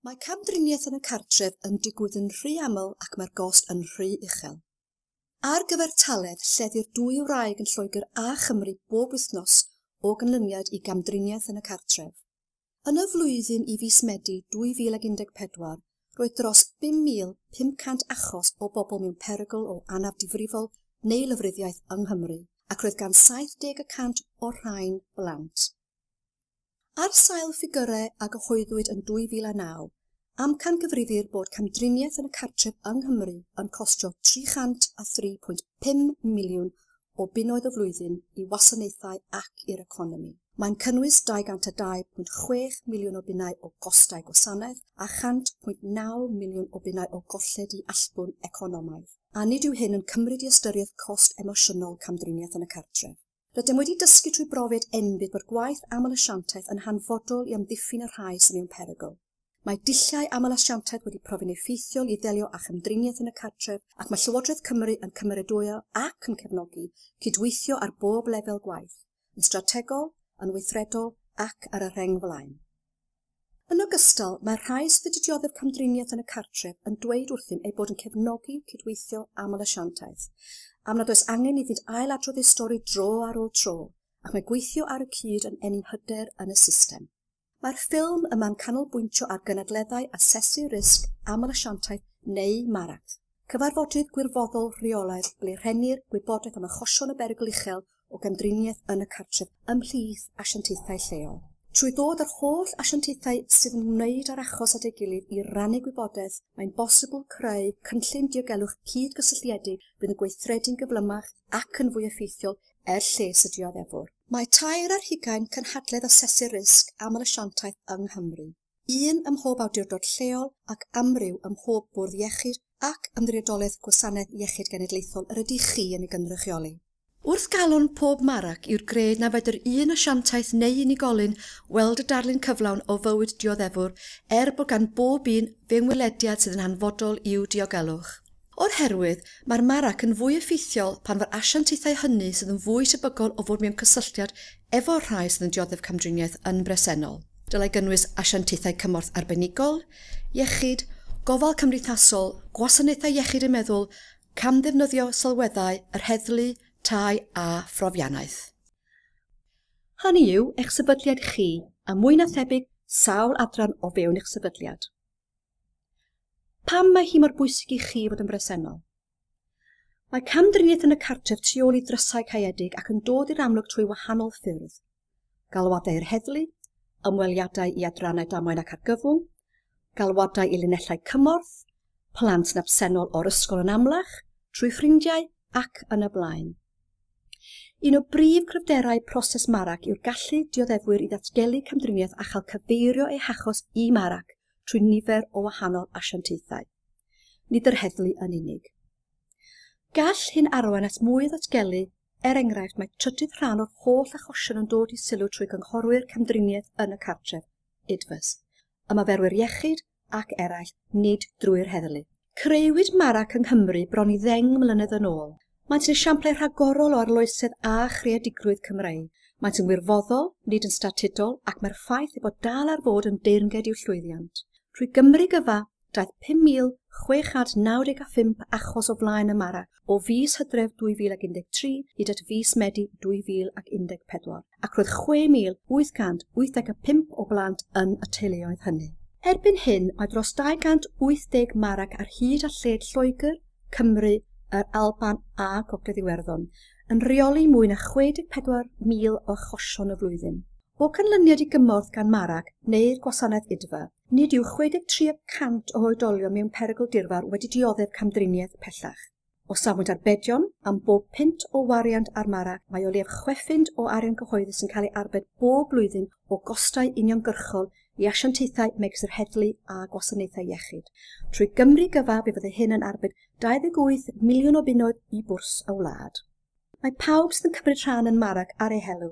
Mae camdriniaeth yn y cartref yn digwydd yn rhy aml ac mae'r gost yn rhy uchel. Ar gyfartaledd, lleddir dwy wraig yn Lloegr a Chymru bob wythnos o ganlyniad i gamdriniaeth yn y cartref. Yn y flwyddyn i fis Medi 2014, roedd dros 5,500 achos o bobl mewn perygl o anaf difrifol neu lofruddiaeth yng Nghymru, ac roedd gan 70% o'r rhain blant. Ar sail ffigyrau a gyhoeddwyd yn 2009, amcangyfrifir bod camdriniaeth yn y cartref yng Nghymru yn costio 303.5 miliwn o bunnoedd y flwyddyn i wasanaethau ac i'r economi. Mae'n cynnwys 202.6 miliwn o bunnau o gostau gwasanaeth a 100.9 miliwn o bunnau o golled i allbwn economaidd. A nid yw hyn yn cymryd i ystyriaeth cost emosiynol camdriniaeth yn y cartref. Rydym wedi dysgu trwy brofiad enbyd bod gwaith aml-asiantaeth yn hanfodol i amddiffyn y rhai sydd mewn perygl. Mae dulliau aml-asiantaeth wedi profi'n effeithiol i ddelio â chamdriniaeth yn y cartref ac mae Llywodraeth Cymru yn cymeradwyo ac yn cefnogi cydweithio ar bob lefel gwaith, yn strategol, yn weithredol ac ar y rheng flaen. Yn ogystal, mae'r rhai sydd wedi dioddef camdriniaeth yn y cartref yn dweud wrthym eu bod yn cefnogi cydweithio aml-asiantaeth, am nad oes angen iddynt ailadrodd eu stori dro ar ôl tro, ac mae gweithio ar y cyd yn ennyn hyder yn y system. Mae'r ffilm yma'n canolbwyntio ar gynadleddau asesu risg aml-asiantaeth neu MARAC, cyfarfodydd gwirfoddol rheolaidd ble rhennir gwybodaeth am achosion o berygl uchel o gamdriniaeth yn y cartref ymhlith asiantaethau lleol. Trwy ddod â'r holl asiantaethau sydd yn ymwneud â'r achos at ei gilydd i rannu gwybodaeth, mae'n bosibl creu cynllun diogelwch cydgysylltiedig fydd yn gweithredu'n gyflymach ac yn fwy effeithiol er lles y dioddefwr. Mae 23 cynhadledd asesu risg aml-asiantaeth yng Nghymru, un ym mhob awdurdod lleol ac amryw ym mhob bwrdd iechyd ac ymddiriedolaeth Gwasanaeth Iechyd Genedlaethol yr ydych chi yn ei gynrychioli. Wrth galon pob MARAC yw'r gred na fedr un asiantaeth neu unigolyn weld y darlun cyflawn o fywyd dioddefwr er bod gan bob un fewnwelediad sydd yn hanfodol i'w diogelwch. O'r herwydd, mae'r MARAC yn fwy effeithiol pan fo'r asiantaethau hynny sydd yn fwy tebygol o fod mewn cysylltiad efo'r rhai sydd yn dioddef camdriniaeth yn bresennol. Dylai gynnwys asiantaethau cymorth arbenigol, iechyd, gofal cymdeithasol, gwasanaethau iechyd y meddwl, camddefnyddio sylweddau, yr heddlu, tai a phrofiannaeth. Hynny yw, eich sefydliad chi, a mwy na thebyg, sawl adran o fewn eich sefydliad. Pam mae hi mor bwysig i chi fod yn bresennol? Mae camdriniaeth yn y cartref tu ôl i ddrysau caeedig ac yn dod i'r amlwg trwy wahanol ffyrdd. Galwadau i'r heddlu, ymweliadau i adrannau damwain ac argyfwng, galwadau i linellau cymorth, plant yn absennol o'r ysgol yn amlach, trwy ffrindiau ac yn y blaen. Un o brif gryfderau proses MARAC yw'r gallu dioddefwyr i ddatgelu camdriniaeth a chael cyfeirio eu hachos i MARAC trwy nifer o wahanol asiantaethau. Nid yr heddlu yn unig. Gall hyn arwain at mwy o ddatgelu, er enghraifft mae trydydd rhan o'r holl achosion yn dod i sylw trwy gynghorwyr camdriniaeth yn y cartref, IDVAs, ymarferwyr iechyd ac eraill, nid drwy'r heddlu. Creuwyd MARAC yng Nghymru bron i 10 mlynedd yn ôl. Maent yn esiamplau rhagorol o arloesedd a chreadigrwydd Cymreig. Maent yn wirfoddol, nid yn statudol, ac mae'r ffaith ei bod dal ar fod yn deyrnged i'w llwyddiant. Trwy Gymru gyfa, daeth 5,695 achos o flaen y MARAC o fis Hydref 2013 hyd at fis Medi 2014, ac roedd 6,885 o blant yn y teuluoedd hynny. Erbyn hyn, mae dros 280 MARAC ar hyd a lled Lloegr, Cymru, yr Alban a Gogledd Iwerddon, yn rheoli mwy na 64,000 o achosion y flwyddyn. O ganlyniad i gymorth gan MARAC neu'r gwasanaeth IDVA, nid yw 63% o oedolion mewn perygl dirfawr wedi dioddef camdriniaeth pellach. O safbwynt arbedion, am bob punt o wariant ar MARAC, mae o leiaf 6 punt o arian cyhoeddus yn cael ei arbed bob blwyddyn o gostau uniongyrchol i asiantaethau megis yr heddlu a gwasanaethau iechyd. Trwy Gymru gyfa, fe fyddai hyn yn arbed 28 miliwn o bunnoedd i bwrs y wlad. Mae pawb sydd yn cymryd rhan yn MARAC ar eu helw,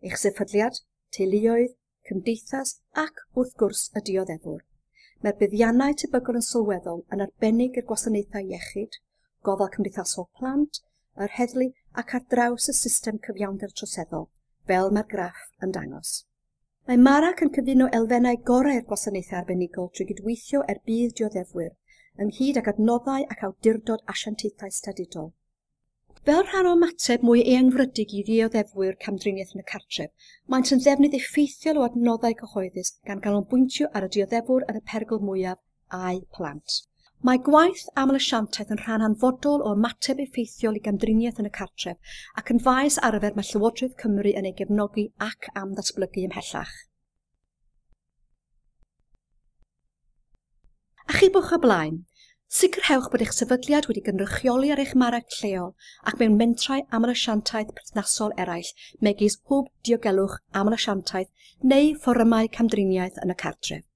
eich sefydliad, teuluoedd, cymdeithas ac, wrth gwrs, y dioddefwr. Mae'r buddiannau tebygol yn sylweddol yn arbennig i'r gwasanaethau iechyd, gofal cymdeithasol plant, yr heddlu ac ar draws y system cyfiawnder troseddol, fel mae'r graff yn dangos. Mae MARAC yn cyfuno elfennau gorau'r gwasanaethau arbenigol trwy gydweithio er budd dioddefwyr, ynghyd ag adnoddau ac awdurdod asiantaethau statudol. Fel rhan o ymateb mwy eangfrydig i ddioddefwyr camdriniaeth yn y cartref, maent yn ddefnydd effeithiol o adnoddau cyhoeddus gan ganolbwyntio ar y dioddefwr yn y perygl mwyaf a'u plant. Mae gwaith aml-asiantaeth yn rhan hanfodol o ymateb effeithiol i gamdriniaeth yn y cartref ac yn faes arfer mae Llywodraeth Cymru yn ei gefnogi ac am ddatblygu ymhellach. Achubwch y blaen. Sicrhewch bod eich sefydliad wedi gynrychioli ar eich MARAC lleol ac mewn mentrau aml-asiantaeth perthnasol eraill megis Hwb Diogelwch Aml-asiantaeth neu fforymau camdriniaeth yn y cartref.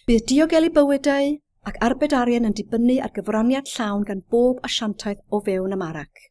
Bydd diogelu bywydau ac arbed arian yn dibynnu ar gyfraniad llawn gan bob asiantaeth o fewn y MARAC.